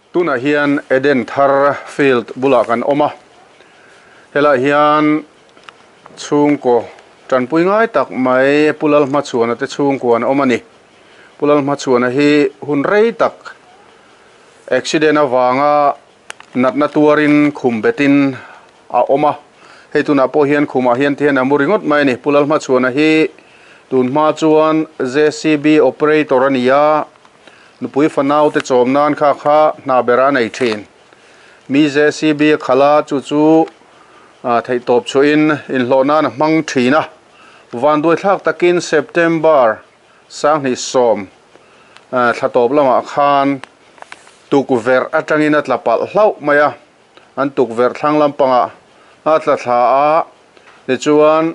Tunah hian Eden Thar field bulah kan awm a, helaiah hian chhungkaw tanpui ngai tak mai Pu Lalhmachhuana te chhungkua an awm a ni. Pu Lalhmachhuana hi hun rei tak accident avanga natna tuarin khum betin a awm a, hei tunah pawh hian khumah hian ti hian a mu ringawt mai a ni. Pu Lalhmachhuana hi tun hma chuan JCB operator a ni a. Nupui fanau te chawm nan kha kha hna ber a nei thin. Mi JCB a khalh a, chu chu theihtawp chhuahin inhlawh nan a hmang thin a. Vanduaithlak takin September 2010 thla tawp lamah khan tukverh atangin a tla palh hlauh mai a, an tukverh thlang lampangah a tla thla a, tichuan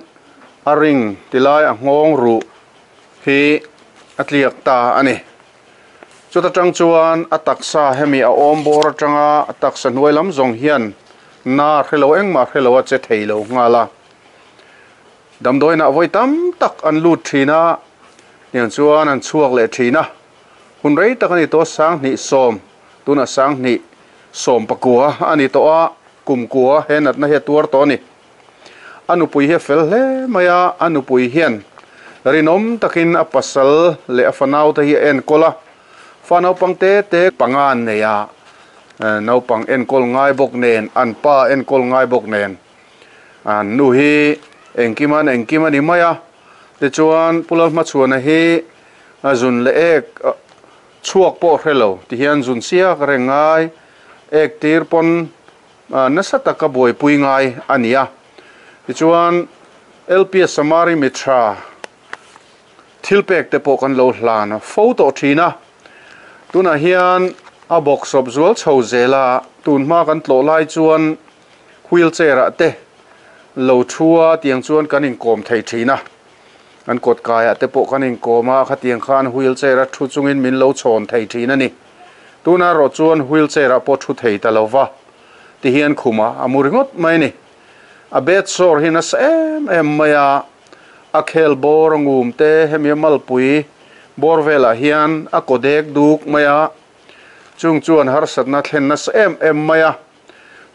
a ring tilai a nghawng ruh hi a tliak ta a ni. Chuta tang chuan a taksa hemi a awm bawr atanga a taksa hnuai lam zawng hian na hrelo engmah hrelo a che thei lo nghal a. Damdawiinah vawi tam tak an lut thin a, tiang chuan an chhuak leh thin a. Hun rei tak a ni tawh 2010, tunah 2019 a ni tawh a, kum kua he natna hi a tuar tawh a ni. A nupui hi a fel hle mai a, a nupui hian rinawm takin a pasal leh a fanaute hi a enkawl a, fa naupang te te panga an nei a, naupang enkawl ngai bawk nen, an pa enkawl ngai bawk nen, an nu hi engkim an engkim a ni mai a, tichuan Pu Lalhmachhuana hi a zun leh ek chhuak pawh hre lo, tihian zun siak reng ngai, ek tir pawn Nasa taka buaipui ngai a ni a. Tichuan, LPS Samari Mithra thil pek te pawh kan lo hlan fo tawh thin a. Tunah hian a bawksawp zual chho zel a, tun hma kan tlawh lai chuan wheelchair ah te lo thu a tiang chuan kan inkawm thei thin a. An kawt kaiah te pawh kan inkawm a, khatiang khan wheelchair a thu chungin min lo chhawn thei thin a ni. Tuna erawh chuan wheelchair ah pawh thu thei ta lo va, ti hian khumah a mu ringawt mai a ni. A bed sore hi nasa em em mai a, a khel bawr a ngum te hemi a malpui bawr velah hian a kaw dek duk mai a, chung chuan harsatna thlen nasa em em mai a.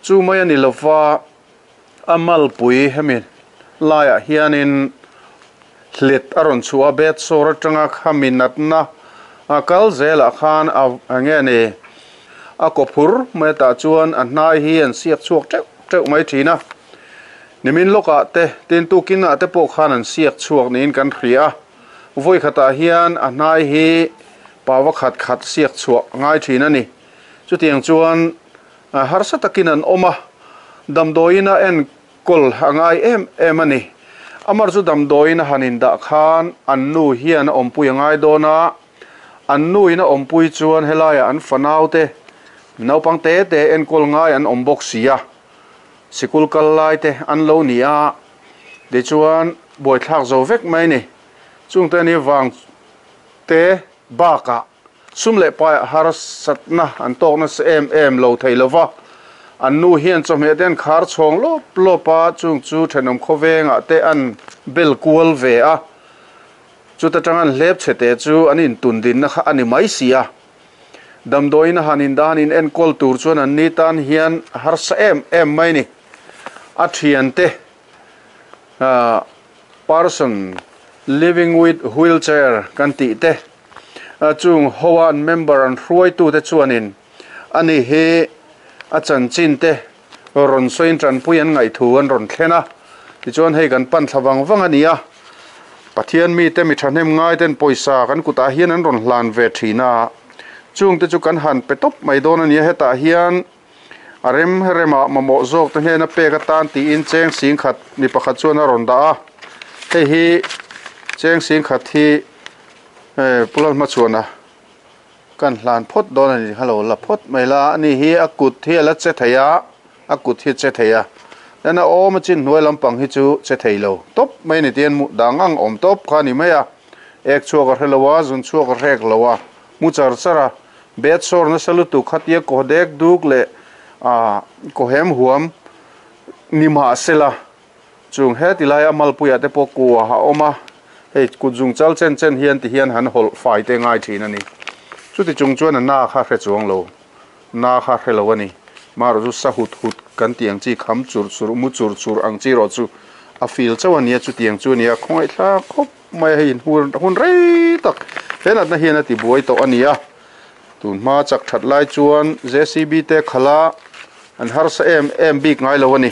Chu mai a ni lo va, a malpui hemi laiah hianin hlit a rawn chhuah a, bed sore atanga khami natna a kal zelah khan a eng nge ni a kaw phur mai tah chuan a hnai hi an siak chhuak teuh teuh mai thin a, nimin lawkah te tin tukinah te pawh khan an siak chhuak niin kan hria a, vawi khatah hian a hnai hi paua khat khat siak chhuah ngai thin a ni, chutiang chuan Harsa takin an awm a, damdawiin a enkawl a ngai em em a ni. Amar chu damdawiin a han indah khan an nu hian a awmpui a ngai dawn a, an nuin a awmpui chuan helaiah an fanaute naupang te te enkawl ngai an awm bawk si a, sikul kal lai te an lo ni a, tichuan buaithlak zo vek mai a ni. Chungte ni vang te bakah. Sum leh paiah harsatna an tawk nasa em em lo thei lo va, an nu hian chawhmeh te an khar chhawng lawp lawp a, chung chu thenawm khawvengah te an bel kual ve a, chuta tang an hlep chhe te chu an intun dinna kha a ni mai si a. Damdawiin a han indah han in enkawl tur chuan an ni tan hian a harsa em em mai ni. A thiante person living with wheelchair kan tih te, Chung hoa an member an hruaitute chuanin ani hi a chanchin te rawn sawiin tanpui an ngaihthu an rawn thlen a, tichuan hei kan pan thla vang vang a ni a, Pathian mite mi thahnem ngaiten pawisa kan kutah hian an rawn hlan ve thin a, chungte chu kan han pe tawp mai dawn a ni a, hetah hian a rem remah mamawh zawk te hnena pek atan tiin cheng singkhat mi pakhat chuan a rawn dah a, hei hi cheng singkhat hi Pu Lalhmachhuana kan hlan phawt dawn a ni kha lo la phawt mai la ani hi a kut hi a la che thei a a kut hi a che thei a then a awm a chin hnuai lampang hi chu che thei lo tawp mai a ni tihian mu dang ang awm tawp kha a ni mai a ek chhuak a hre lo a zun chhuak a hrek lo a mu char char a bed sore nasa lutuk khatia kaw dek duk leh ah kaw hem huam ni mahsela Chung heti laia malpuiah te pawh kua a awm a, hei kut zung chal chen chen hian ti hian han hawlh fai te ngai thin a ni. Chuti chung chuan a na kha hre chuang lo. Na kha hre lo a ni. Marawh chu sa hut hut kan tih ang chi, kham churh churh, mu churh churh ang chi erawh chu a feel chauh a nia, chutiang chu a nia, khawngaihthlak khawp mai a, hei inhur hun rei tak he natna hian a ti buai tawh a ni a. Tun hma chak that lai chuan JCB te khalh a an harsa em em bik ngai lo a ni.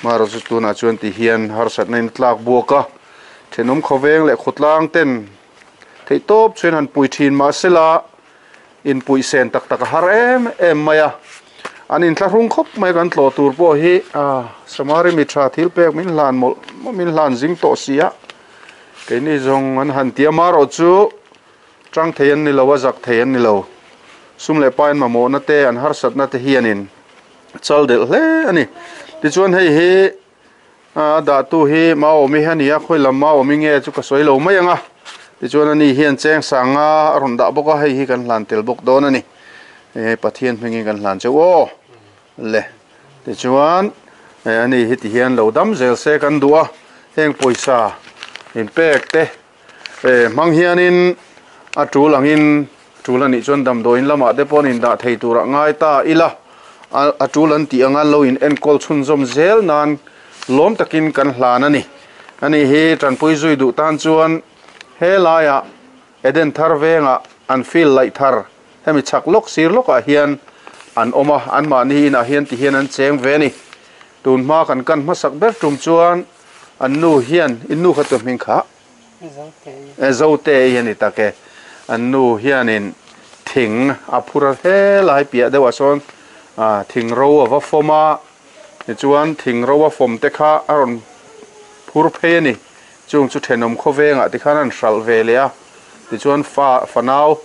Marawh chu tunah chuan ti hian harsatna in a tlak buak a, thenawm khawveng leh khawtlang ten theihtawp chuan han pui thin mahsela, Inpuih sen tak tak a har em em mai a, an inthlahrung khawp mai kan tlawh tur pawh hi Samari mi tha thil pek min hlan mawlh mawlh min hlan zing tawh si a, keini zawng an han ti a, marawh chu tang thei an ni lo a, zak thei an ni lo, sum leh pain mamawhna te an harsatna te hianin chal delh hle a ni. Tichuan hei hi A dahtu hi Maawmi a ni a, khawi lam Maawmi nge chu ka sawi lo mai ang a. Tichuan ani hian cheng sanga a rawn dah bawk a, hei hi kan hlan tel bawk dawn a ni. Hei Pathian hmingin kan hlan cheu aw le. Tichuan ani hi tihian lo dam zel se kan duh a, heng pawisa inpek te hmang hianin a tul angin Tul a nih chuan damdawiin lamah te pawh an indah thei turah ngai ta ila, a tul an tih anga lo in enkawl chhunzawm zel nan lawm takin kan hlan a ni. Ani hi tanpui zui duh tan chuan he laiah Eden thar vengah an field laih thar hemi chhak lawk sir lawkah hian an awm a, anmahni inah hian ti hian an cheng ve a ni. Tun hma kan kan hmasak ber tum chuan an nu hian, in nu kha chu hming kha. Zote hi a ni tak e. An nu hianin thing a phur a helai piah deuhah sawn thing ro a va fawm a, tichuan thing ro a fawm te kha a rawn phur phei a ni. Chung chu thenawm khawvengah tikhan an hralh ve leh a, tichuan fa fanau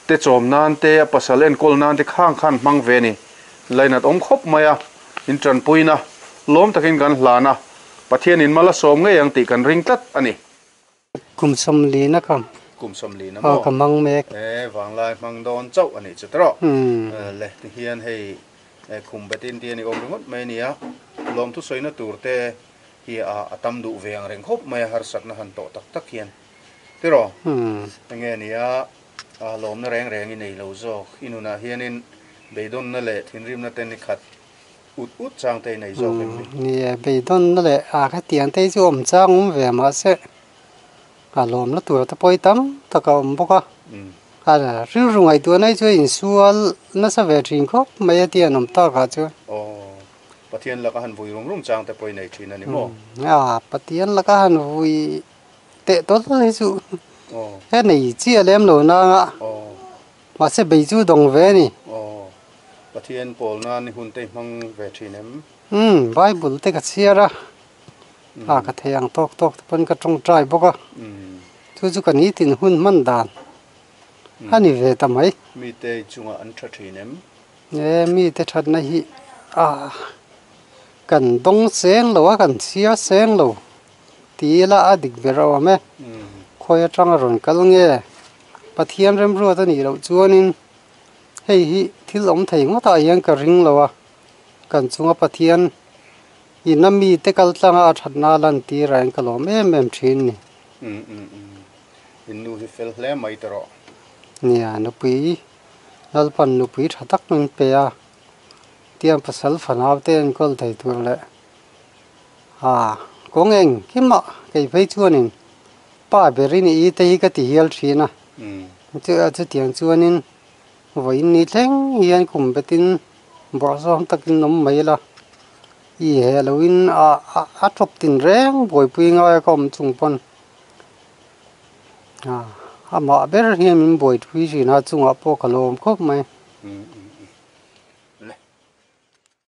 te chawm nan te a pasal enkawl nan te khang khan hmang ve a ni. Lainat awm khawp mai a, in tanpuina lawm takin kan hlan a. Pathianin mal a sawm ngei ang tih kan ring tlat a ni. Kum sawmlina ka Kum sawmlina maw? Aw ka hmang mek. E, vanglai hmang dawn chauh a nih chu tawh. Le, tihian hei khum betin tih a ni awm ringawt mai a ni a, lawmthu sawina tur te hi a tam duh ve ang reng khawp mai a, harsatna han tawh tak tak hian. Tiraw? Enge a nia, lawmna reng reng i nei lo zawk. I nunah hianin beidawnna leh thinrimna te ni khat Ut ut chang te i nei zawk em ni? Ni e, beidawnna leh a khatiang te hi chu awm chang awm ve mahse a lawmna tur te pawh hi tam tak a awm bawk a. A rilru ngaihtuahna hi chu a insual nasa ve thin khawp mai a tih an awm tak ah chuan. Aw, Pathian laka han vui rum rum chang te pawh i nei thin a ni maw? A, Pathian laka han vui teh tawlh hi chu he nei chiah lem lo nang a. Mahse bei chu dawng ve a ni. Aw, Pathian pawl nan i hun te i hmang ve thin em? Umm, Bible te ka chhiar a, a ka thei ang tawk tawk te pawn ka tawngtai bawk a, chu chu ka nitin hun hman dan a ni ve ta mai. Mite i chungah an tha thin em? E, mite thatna hi a kan dawng seng lo a, kan chhiar seng lo ti ila a dik ber a awm e. Khawi atanga rawn kal nge? Pathian remruat a nih loh chuanin hei hi thil awm thei ngawtah hian ka ring lo a, kan chunga Pathian ina mite kal tlanga a thatna a lantir ah hian ka lawm em em thin ni. Umm umm umm in nu hi fel hle mai ta rawh. Nia, nupui Lalpan nupui tha tak min pe a, tiang pasal fanau te enkawl thei tur leh a kawng engkim ah kei phei chuanin Pa ber i nih i te hi ka ti hial thin a, chutiang chuanin vawiin ni thleng hian kum betin bawrhsawm takin awm mai la, i he loin a tawp tin reng buaipui ngai a ka awm chung pawn amah ber hian min buaipui thin a, chungah pawh ka lawm khawp mai.